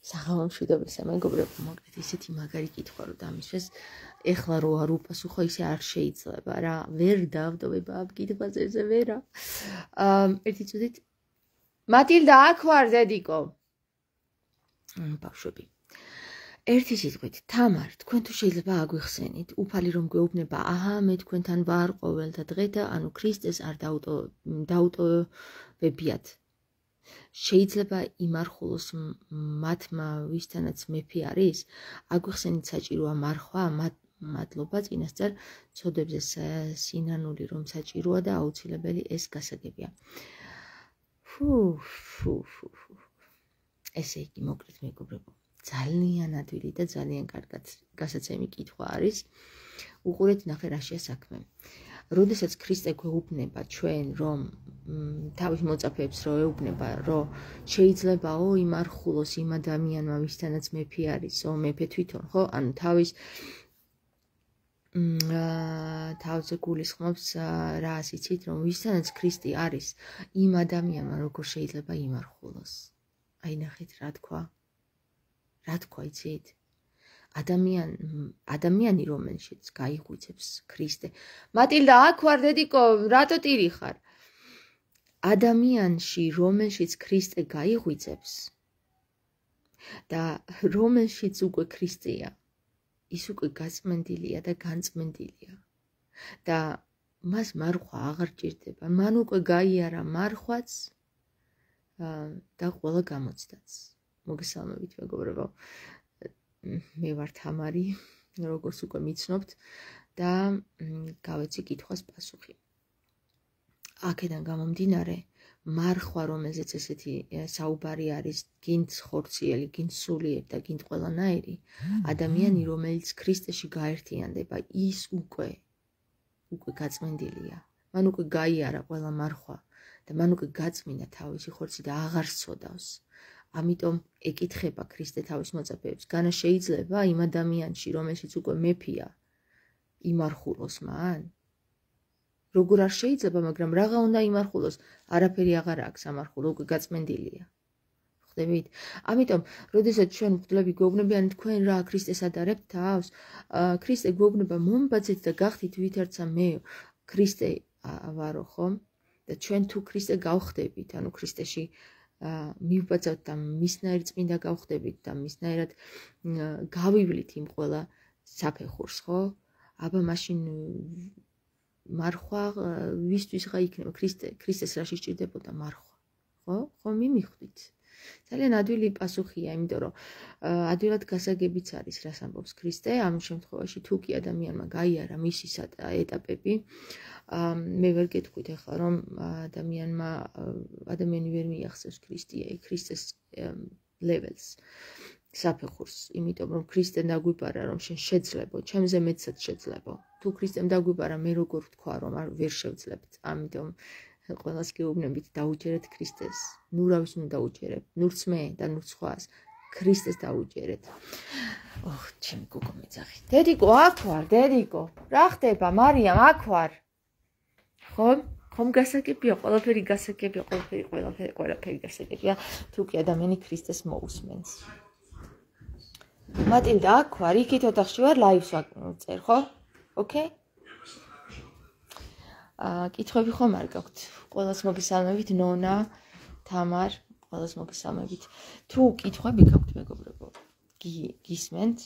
საღამო მშვიდობისა მეგობრებო, მოკლედ ისეთი მაგარი კითხვა რომ დამისვეს, ეხლა რო არ უპასუხო, ისე არ შეიძლება რა, ვერ დავდობება ამ კითხვაზე ვერა. ერთი წუთით. მატილდა, აქ ვარ, დედიკო. ბავშვები. ერთი სიტყვით, თამარ, თქვენ თუ შეიძლება აგვიხსენით, უფალი რომ გვეუბნება, აჰა, მე თქვენთან ვარ ყოველთა დღე და ანუ ქრისტეს არ დაუტოვებიათ. შეიძლება იმარხულოს მათმა ვისთანაც მეფე არის, აგვიხსენით საჭიროა მარხვა, მადლობა წინასწარ ცოდებზე სინანული რომ საჭიროა და აუცილებელი ეს გასაგებია. ესე იგი, მოკლედ მეგობრებო, ძალიან ადვილი და ძალიან კარგად გასაცემი კითხვა არის. უყურეთ, ნახე რაშია საქმე. როდესაც ქრისტე გვეუბნება ჩვენ რომ თავის მოწაფეებს რო ეუბნება რომ შეიძლებაო იმარხულოს იმ ადამიანმა ვისთანაც მეფე არისო, მეფე თვითონ, ხო? ანუ თავზე გულისხმობს რა იცით რომ ვისთანაც ქრისტე არის, იმ ადამიანმა როგორ შეიძლება იმარხულოს. აი ნახეთ რა თქვა. რა თქვა იცით? ადამიანი რომელშიც გაიღვიძებს ქრისტე. მატილდა, აქ ვარ, დედიკო, რატო ტირი ხარ? ადამიანში რომელშიც ქრისტე გაიღვიძებს და რომელშიც უკვე ქრისტეა, ის უკვე გაწმენდილია და განწმენდილია და მას მარხვა აღარ ჭირდება. მან უკვე გაიარა მარხვაც და ყველა გამოცდაც. მოგესალმებით მეგობრებო. მე ვარ თამარი, როგორც უკვე მიცნობთ და გავეცი კითხვას პასუხი. აქედან გამომდინარე, მარხვა, რომელზეც ესეთი საუბარი არის, გინდ ხორციელი, გინდ სულიერი და გინდ ყველანაირი, ადამიანი, რომელიც ქრისტეში გაერთიანდება, ის უკვე გაწმენდილია. მან უკვე გაიარა ყველა მარხვა და მან უკვე გაწმინდა თავისი ხორცი და აღარ სცოდავს. ამიტომ ეკითხება ქრისტე თავის მოწაფეებს, განა შეიძლება იმ ადამიანში, რომელშიც უკვე მეფეა, იმარხულოს მან? როგორ არ შეიძლება, მაგრამ რაღა უნდა იმარხულოს? არაფერი აღარ აქვს ამარხულო, უკვე გაწმენდილია. ხვდებით? ამიტომ, როდესაც ჩვენ მღვდლები გვეუბნებიან, თქვენ რა ქრისტეს ადარებთ თავს? ქრისტე გვეუბნება, მომბაძეთ და გახდით ვითარცა მე ქრისტე ვარო, ხო? და ჩვენ თუ ქრისტე გავხდებით, ანუ ქრისტეში მივბაძავთ და მისნაირ წმინდა გავხდებით და მისნაირად გავივლით იმ ყველა საფეხურს, ხო? აბა მაშინ მარხვა ვისთვისღა იქნება? ქრისტეს რაში სჭირდებოდა მარხვა, ხო? ხო, მიმიხვდით. ძალიან ადვილი პასუხია, იმიტომ რომ ადვილად გასაგებიც არის, რას ამბობს ქრისტე. ამ შემთხვევაში თუ კი ადამიანმა გაიარა მისი ეტაპები, მე ვერ გეტყვით ახლა რომ ადამიანი ვერ მიახსენს ქრისტეს ლეველს, საფეხურს, იმიტომ რომ ქრისტემ დაგვიბარა რომ შენ შეძლებო, ჩემზე მეცად შეძლებო. თუ ქრისტემ დაგვიბარა, მე როგორ ვთქვა რომ ვერ შევძლებთ. ამიტომ ყველას გეუბნებით, დაუჯერეთ ქრისტეს. ნუ რავის უნდა დაუჯერებ, ნურც მე და ნურც სხვას. ქრისტეს დაუჯერეთ. ჩემი გოგო მეძახი. დედიკო, აქ ვარ, დედიკო. რა ხდება, მარიამ, აქ ვარ. ხომ გასაგებია, ყველაფერი გასაგებია, ყველაფერი გასაგებია, თუ კი ადამიანი ქრისტეს მოусმენს. მატილდა, აქ ვარ, იქით ოთახში ვარ, ლაივს ვაწერ, ხო? ოკეი? კითხვები ხომ არ გაქვთ? ყველას მოგესალმებით, ნონა, თამარ, ყველას მოგესალმებით. თუ კითხვები გაქვთ, მეგობრებო, გისმენთ?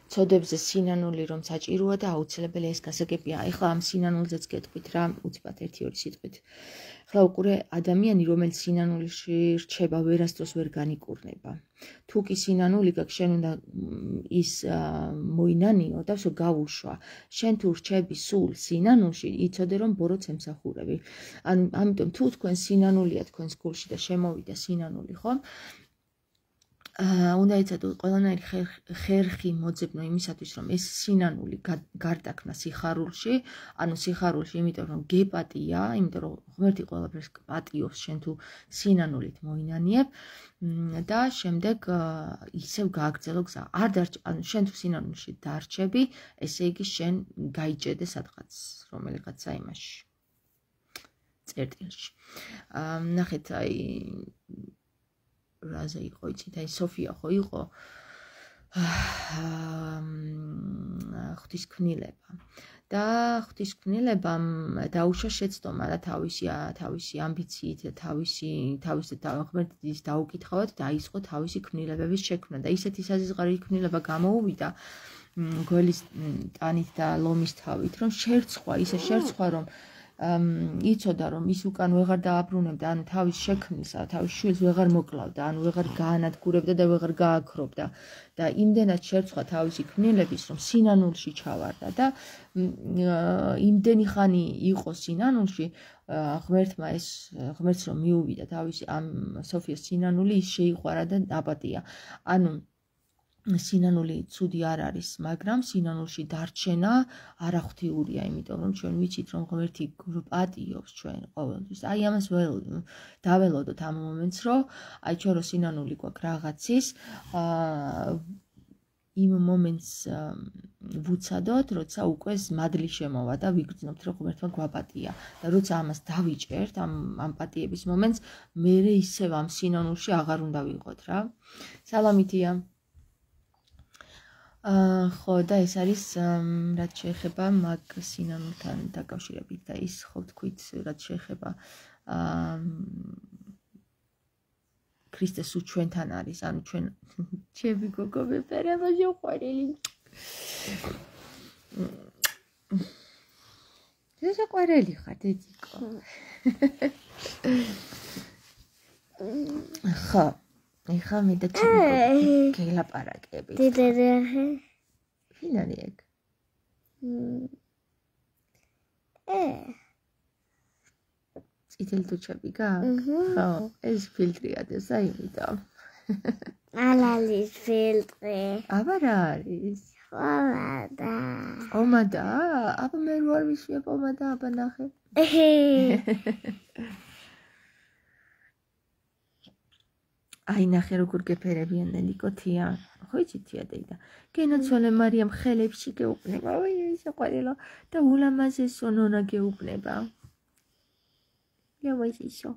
ცოდებზე სინანული რომ საჭიროა და აუცილებელი ეს გასაგებია. ეხლა ამ სინანულზეც გეტყვით რა, უცბად 1-2 სიტყვით. ეხლა უყურე, ადამიანი, რომელიც სინანულში რჩება, ვერასდროს ვერ განიკურნება. თუ კი სინანული გაქვს, შენ უნდა ის მოინანიო და გავუშვა. შენ თუ რჩები სულ სინანულში, იცოდე რომ ბოროტს ემსახურები. ამიტომ თუ თქვენ სინანულია თქვენს გულში და შემოვიდა სინანული, ხო? უნდა იცოდეთ ყველანაირი ხერხი მოძებნო იმისათვის, რომ ეს სინანული გარდაქმნა სიხარულში, ანუ სიხარულში, იმიტომ რომ გეპატია, იმიტომ რომ ღმერთი ყველაფერს პატიობს, შენ თუ სინანულით მოინანიებ და შემდეგ ისევ გააგრძელო გზა. ანუ შენ თუ სინანულში დარჩები, ესე იგი შენ გაიჭედე სადღაც, რომელიღაცა იმაში. წერტილში. ნახეთ, აი რაზე იყო, იცით, აი სოფია ხო იყო ღვთისმკვლელობა და ღვთისმკვლელებამ დაუშვა შეცდომა და თავისი ამბიციით და თავისი ღმერთის დაუკითხავად დაიწყო თავისი კვნილებების შექმნა და ისეთი საზღვარი კვნილება გამოუვიდა გველის ტანით და ლომის თავით, რომ შერცხვა, რომ იცოდა, რომ ის უკან ვეღარ დააბრუნებდა, ანუ თავის შექმნისა, თავის შვილს ვეღარ მოკლავდა, ანუ ვეღარ გაანადგურებდა და ვეღარ გააქრობდა და იმდენად შერცხვა თავისი კვნილების, რომ სინანულში ჩავარდა და იმდენი ხანი იყო სინანულში, ღმერთს რომ მიუვიდა თავისი ამ სოფიას სინანული, ის შეიყვარა და აპატია. ანუ სინანული ცუდი არ არის, მაგრამ სინანულში დარჩენა არაღვთიურია, იმიტომ რომ ჩვენ ვიცით, რომ ღმერთი პატიობს ჩვენ ყოველთვის. აი ამას დაველოდოთ ამ მომენტს, რომ აი ჩვენ რო სინანული გვაქვს რაღაცის, იმ მომენტს ვუცადოთ, როცა უკვე მადლი შემოვა და ვიგრძნობთ, რომ ღმერთმა გვაპატია და როცა ამას დავიჭერთ, ამ პატიების მომენტს, მერე ისევ ამ სინანულში აღარ უნდა ვიყოთ რა. სალამითია. ხო და ეს არის რაც შეეხება მაგ სინანულთან დაკავშირებით და ის ხო თქვით რაც შეეხება ქრისტეს უჩვენთან არის, ანუ ჩვენ ჩემი გოგო მეფერება შეყვარელი. შეყვარელი ხარ, დედიკო. ხო. ეხლა მე და ჩემი გელაპარაკებით. დედაახე. ვინ არის ეგ? წითელი თუჩები გაქვს? ხო, ეს ფილტრია და საიმიტომ. ალალის ფილტრი. აბა რა არის? ხომადა. ომადა? აბა მე ვარ ვისვია ომადა, აბა ნახე. აი ნახე როგორ გეფერებიან ნიკოთია. ხო იცი თია დედა. გენაცვალე მარიამ ხელებში გეუბნება. ой, შეყვარელო და ულამაზესო ნონა გეუბნება. ლევაისო.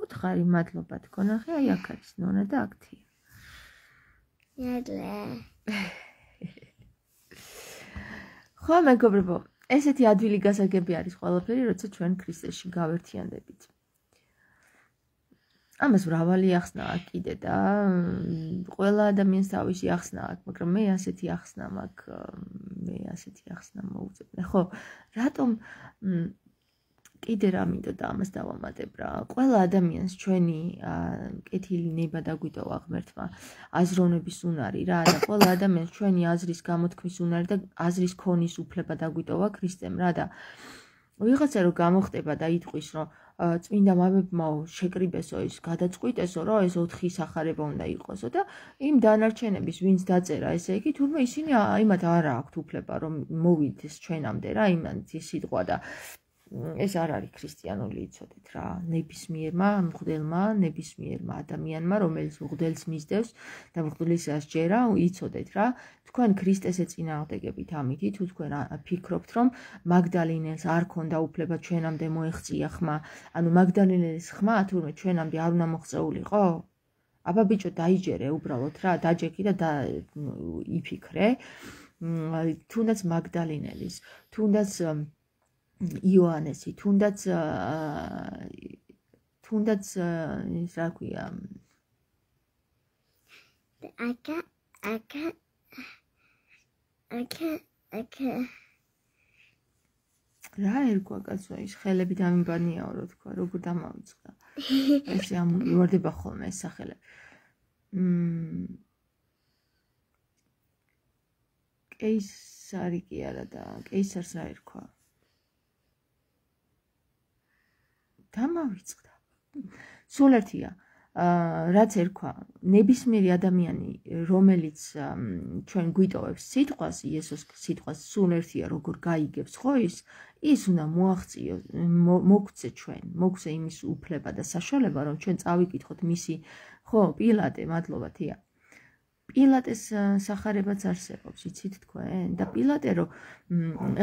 უთხარი მადლობა თქო ნახე, აი აქ არის ნონა და აქ თია. იადლე. ხო მეგობრებო, ესეთი ადვილი გასაგები არის ყველაფერი, როცა ჩვენ ქრისტეში გავერთიანდებით. ამას მრავალი ახსნა აქვს კიდე და ყველა ადამიანს თავისი ახსნა აქვს, მაგრამ მე ასეთი ახსნა მოვუწებნე. ხო, რატომ კიდე რა მინდოდა და ამას დავამატებ რა. ყველა ადამიანს ჩვენი კეთილი ნება დაგვიტოვა ღმერთმა, აზროვნების უნარი რა და ყველა ადამიანს ჩვენი აზრის გამოთქმის უნარი და აზრის ქონის უფლება დაგვიტოვა ქრისტემ რა და ვიღაცა რო გამოხდება და იტყვის რომ წმინდა მამებმა შეკრიბესო ის გადაწყვიტესო რომ ეს 4 სახარება უნდა იყოსო და იმ დანარჩენების ვინც დაწერა ესე იგი თურმე ისინი იმათ არ აქვთ უფლება რომ მოვიდეს ჩვენამდე რა იმან ის სიტყვა და ეს არ არის ქრისტიანული იცოდეთ რა ნებისმიერმა მღვდელმა ნებისმიერმა ადამიანმა რომელიც მღვდელს მისდევს და მღვდლისას ჯერა იცოდეთ რა თქვენ ქრისტეს ეწინააღმდეგებით ამითი თუ თქვენ ფიქრობთ რომ მაგდალინელს არ ქონდა უფლება ჩვენამდე მოეღწია ხმა ანუ მაგდალინელის ხმა თურმე ჩვენამდე არ უნდა მოღწეულიყო აბა ბიჭო დაიჯერე უბრალოდ რა დაჯექი და იფიქრე თუნდაც მაგდალინელის თუნდაც იოანესი თუნდაც ის რა ქვია რა ერქვა კაცო ის ხელები დამიბანიაო რო თქვა როგორ დამავიწყდა ესე ამოვარდება ხოლმე ეს სახელები კეისარი კი არა და კეისარს რა ერქვა დამავიწყდა სულ ერთია რაც ერქვა ნებისმიერი ადამიანი რომელიც ჩვენ გვიტოვებს სიტყვას იესოს სიტყვას სულ ერთია როგორ გაიგებს ხო ის უნდა მოაღწიო მოგცე ჩვენ მოგცე იმის უფლება და საშუალება რომ ჩვენ წავიკითხოთ მისი ხო პილატე მადლობა თია პილატეს სახარებაც არსებობს, იცით თქვენ? და პილატე რომ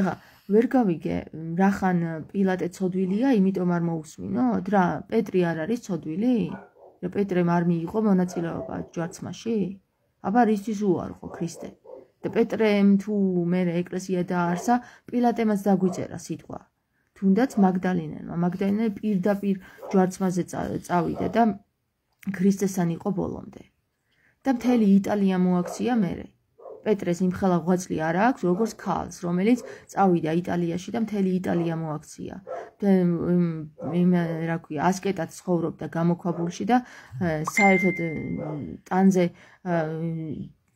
ეხა ვერ გავიგე, რახან პილატე ცოდვილია, იმიტომ არ მოусმინოთ რა? პეტრი არ არის ცოდვილი? რა პეტრემ არ მიიღო მონაწილეობა ჯვარცმაში? აბა რისთვის უარყო ქრისტე? და პეტრემ თუ მე ეკლესია დაარსა, პილატემაც დაგვიწერა სიტყვა. თუნდაც მაგდალინე პირდაპირ ჯვარცმაზე წავიდა და ქრისტესთან იყო ბოლომდე. და მთელი იტალია მოაქცია მერე. პეტრეს იმხელა ღვაწლი არ აქვს, როგორც ქალს, რომელიც წავიდა იტალიაში და მთელი იტალია მოაქცია. რა ქვია, ასკეტად ცხოვრობდა გამოქვაბულში და საერთოდ ტანზე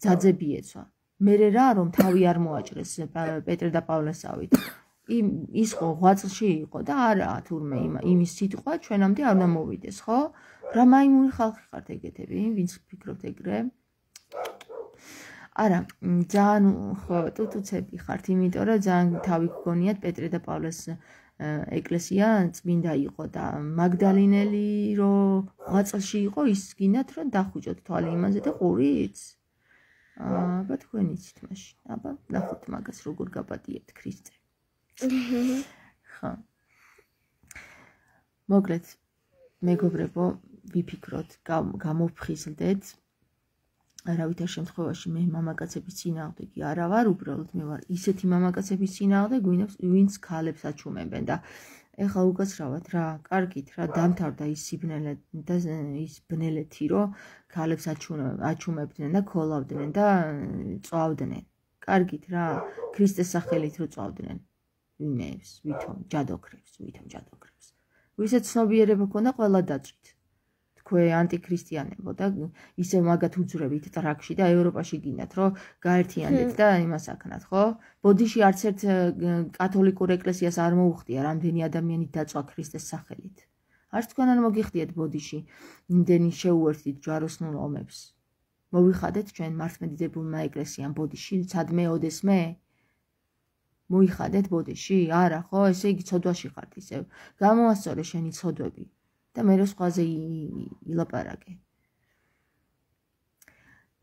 ძაძები ეცვა. მერე რა რომ თავი არ მოაჭრეს პეტრე და პავლესავით. ის ხო ღვაწლში იყო და არა თურმე იმის სიტყვა ჩვენამდე არ უნდა მოვიდეს, ხო? რა მაიმუნი ხალხი ხართ ეგეთები, ვინც ფიქრობთ ეგრე? არა, ძალიან ხო ტუტუცები ხართ, იმიტომ რომ ძალიან თავი გგონიათ პეტრე და პავლეს ეკლესია წმინდა იყო და მაგდალინელი რომ ღვაწლში იყო, ის გინდათ რომ დახუჭოთ თვალი იმაზე და ყურიც? აბა თქვენ იცით მაშინ, აბა ნახოთ მაგას როგორ გაპატიებთ ქრისტე. ხო. მოკლედ მეგობრებო, ვიფიქროთ, გამოვფხიზლდეთ. არავითარ შემთხვევაში მე მამაკაცების წინააღმდეგი არა ვარ, უბრალოდ მე ვარ ისეთი მამაკაცების წინააღმდეგ, ვინც ქალებს აჩუმებენ და ეხლა უკაცრავად რა, კარგით რა, დამთავრდა ის ბნელეთი, რომ ქალებს აჩუმებდნენ და ქოლავდნენ და წვავდნენ. კარგით რა, ქრისტეს სახელით რო წვავდნენ. ვითომ ჯადოქრებს. ვისაც ცნობიერება ქონდა, ყველა დაწვით. თქვენ ანტიქრისტიანებო და ისე მაგათ უძრევით ტრაქში და ევროპაში გინდათ, რომ გაერთიანდეთ და იმას აქნათ, ხო? ბოდიში არც ერთ კათოლიკურ ეკლესიას არ მოუხდია რამდენი ადამიანი დაწვა ქრისტეს სახელით. არც თქვენ არ მოგიხდიათ ბოდიში იმდენი შეუერთდით ჯვაროსნულ ომებს. მოვიხადეთ ჩვენ მართლმადიდებულმა ეკლესიამ ბოდიში, სადმე ოდესმე? მოიხადეთ ბოდიში? არა, ხო? ესე იგი ცოდვაში ხართ ისევ. გამოასწორე შენი ცოდვები და მე რო სხვაზე ილაპარაკე.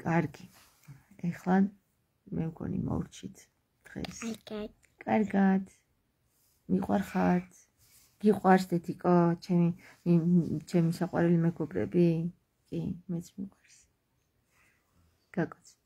კარგი. ეხლა მე მგონი მოვრჩით დღეს. კარგად. მიყვარხართ? გიყვარს დედიკო, ჩემი საყვარელი მეგობრები? კი, მეც მიყვარს. გაკოცე.